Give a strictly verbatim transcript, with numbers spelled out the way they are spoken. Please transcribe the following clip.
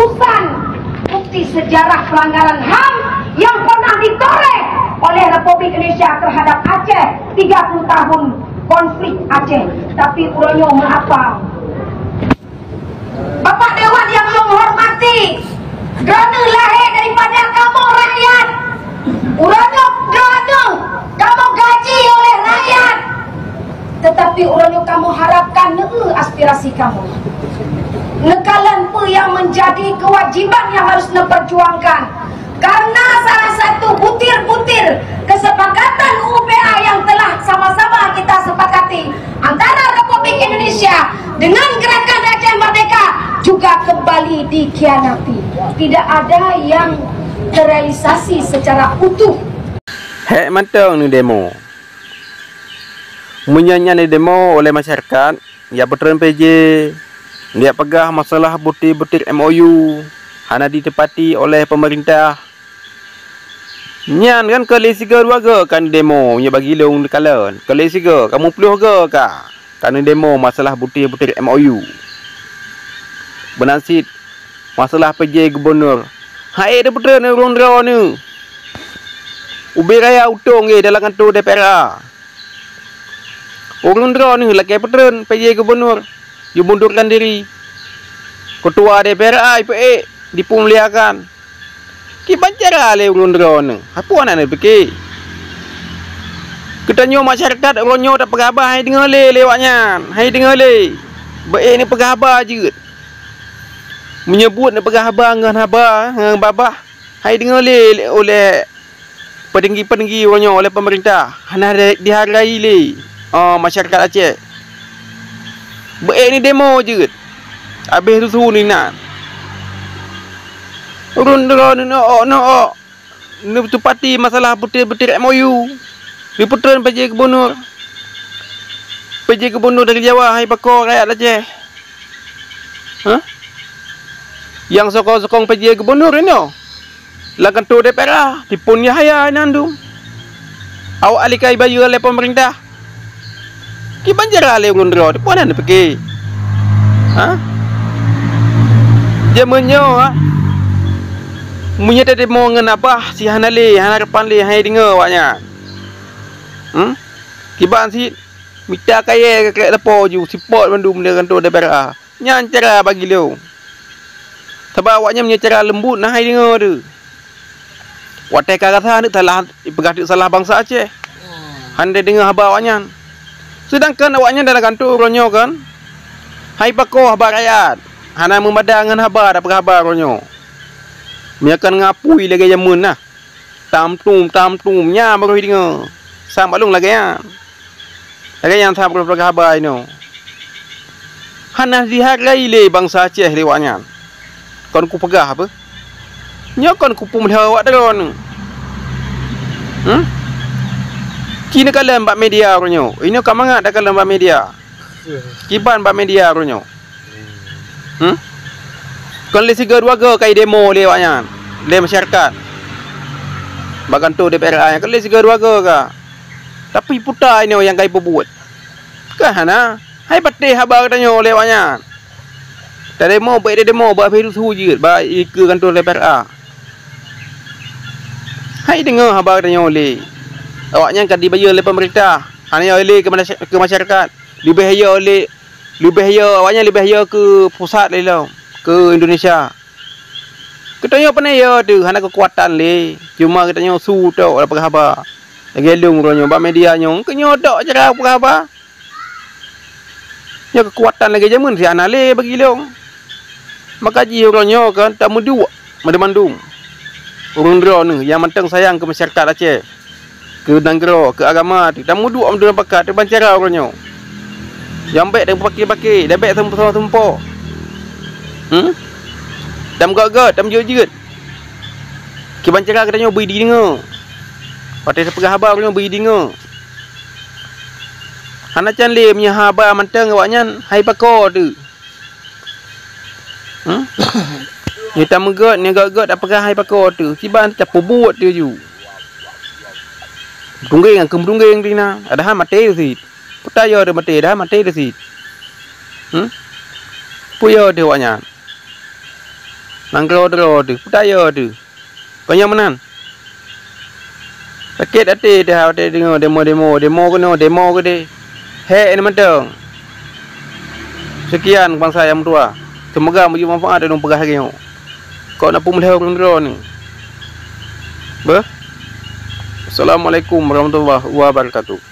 Ratusan bukti sejarah pelanggaran HAM yang pernah ditoreh oleh Republik Indonesia terhadap Aceh, tiga puluh tahun konflik Aceh. Tapi uroe nyoe meuapa? Bapak Dewan yang ulôn hormati, droeneuh lahé daripada kamoe rakyat. Uroe nyoe droeneuh kamoe gaji oleh rakyat. Tetapi uroe nyoe kamoe harapkan neueu aspirasi kamoe. Neukalon peue yang menjadi kewajiban yang harus neuperjuangkan. Karena salah satu butir-butir kesepakatan U U P A yang telah sama-sama kita sepakati antara Republik Indonesia dengan Gerakan Aceh Merdeka juga kembali dikhianati. Tidak ada yang terrealisasi secara utuh. Hék mantong neudemo. Meunyoe nyan neudemo oleh masyarakat, jak peutreun P J, jak peugah masalah butir-butir M O U hana ditepati oleh pemerintah. Nyan kan keu lé sigoe dua goe ka neudemo, meunyoe bagi lôn neukalon. Keu lé sigoe, ka muplôh goe ka, ka neudemo masalah butir-butir M O U. Meunan cit masalah P J gubunur. Hai, dipeutrön ureuëng droeneuh. Ubé raya utông geuh dalam kantor D P R A. Ureuëng droeneuh lakée peutrön P J gubunur, jimundurkan diri. Keutua D P R A ipeuék, dipeumuliakan. Kiban cara lé ureuëng droeneuh, hana peue na neupike. Geutanyoe masyarakat uroe nyoe tapeugah haba hai deungoe lé lé awaknyan, hai deungoe lé. Beu ék neupeugah haba jeuet. Meunyoe buet neupeugah haba ngon haba, ngon babah, hai deungoe lé ulée peutinggi-peutinggi uroe nyoe lé peumeurintah, hana di-, dihargai lé, oh, masyarakat Aceh. Beu ék neudemo jeuet, habéh rusu neuinan. Ureuëng droeneuh neuôk-neuôk, neutupati masalah butir-butir M O U, neupeutrön P J gubunur. P J gubunur dari Jawa hai pakoe rakyat Aceh. Hah? Nyang sokong-sokong P J gubunur inoe lam kantor D P R A, tipu Yahya inan dum. Awak ahli kai bayeue lé peumeurintah. Kiban cara lé ureuëng droe, peue na neupike? Hah? Jameun nyoe, ha? Meunyoe tademo ngon abah si hana lé, hana repan lé, hai deungoe awaknyan. Hmm? Kiban cit mita kayée keu lapoe ju sipot mandum di kantor D P R A. Nyan cara bagi lôn. Sabab awaknyan meunyoe cara leumbut na hai deungoe teuh. Watée ka rasa aneuk salah, ipeugah teuk salah bansa Aceh. Hana deungoe haba awaknyan. Seudangkan awaknyan dalam kantor uroe nyoe kan, hai pakoe haba rakyat, hana meumada ngon haba tapeugah haba uroe nyoe. Meunyoe kan ngon apui lagée jameun nah. Tam tum, tam tum, nyan baroe deungoe. Sam bak lôn lagée nyan. Lagée nyan that peugah haba inoe. Hana jihargai lé bansa Aceh lé awaknyan. Kon kupeugah apa? Nyoe kon kupeumeuliha awak droeneuh. Hmm? Ci neukalon bak media uroe nyoe. Inoe ka mangat takalon bak media. Kiban bak media uroe nyoe. Hmm? Kon lé sigoe dua goe ka idemo lé awaknyan, lé masyarakat. Bak kantor D P R A nyan kon lé sigoe dua goe ka. Tapi peue ta inoe nyang ka ipeubuet? Kan hana. Hai patéh haba geutanyoe lé awaknyan. Tademo bak idemo bak virus hu jeuet bak ikeue kantor D P R A. Hai deungoe haba geutanyoe lé. Awaknyan ka dibayeue lé peumeurintah. Hana lé keu masyarakat. Leubeh yo lé, leubeh yo, awaknyan leubeh yo keu pusat lé lom, keu Indonesia. Geutanyoe pane yo teuh hana keukuatan lé, cuma geutanyoe su tok peugah haba. Lagée lôn uroe nyoe bak media nyoe, keu nyoe tok cara peugah haba. Nyoe keukuatan lagée jameun si hana lé bagi lôn. Maka jih uroe nyoe kan tameuduek mandum-mandum ureuëng droeneuh nyang mantong sayang keu masyarakat Aceh, keu nanggroe, keu agama teuh, tameuduek mandum pakat kiban cara uroe nyoe. Nyang bék tameupaké-paké, dan bék tameusumpah-sumpah. Hmm? Tameugét-gét, tameujeuet-jeuet. Kiban cara geutanyoe bri deungoe. Watée tapeugah haba uroe nyoe bri deungoe. Hana can lé meunyoe haba mantong awaknyan hai pakoe teuh. Hmm? Nyoe tameugét, nyoe gét-gét tapeugah hai pakoe teuh. Kiban tapeubuet teuh ju. Tunggeng nyang keu meudunggeng teuh na, padahai maté teuh cit. Peue ta yo teuh maté, padahai maté teuh cit. Hmm? Peue yo teuh awaknyan? Nanggroe droe teuh, peutayo teuh. Kon nyan meunan. Sakét até teuh watèe deungoe demo-demo, demo keunoe, demo keudéh. Hék nyan mantong. Seukian bansa nyang meutuha. Seumoga meujeuet manfaat lôn peugah lagèe nyoe. Kok na peumeuliho keu droeneuh. Beuh. Assalamualaikum warahmatullahi wabarakatuh.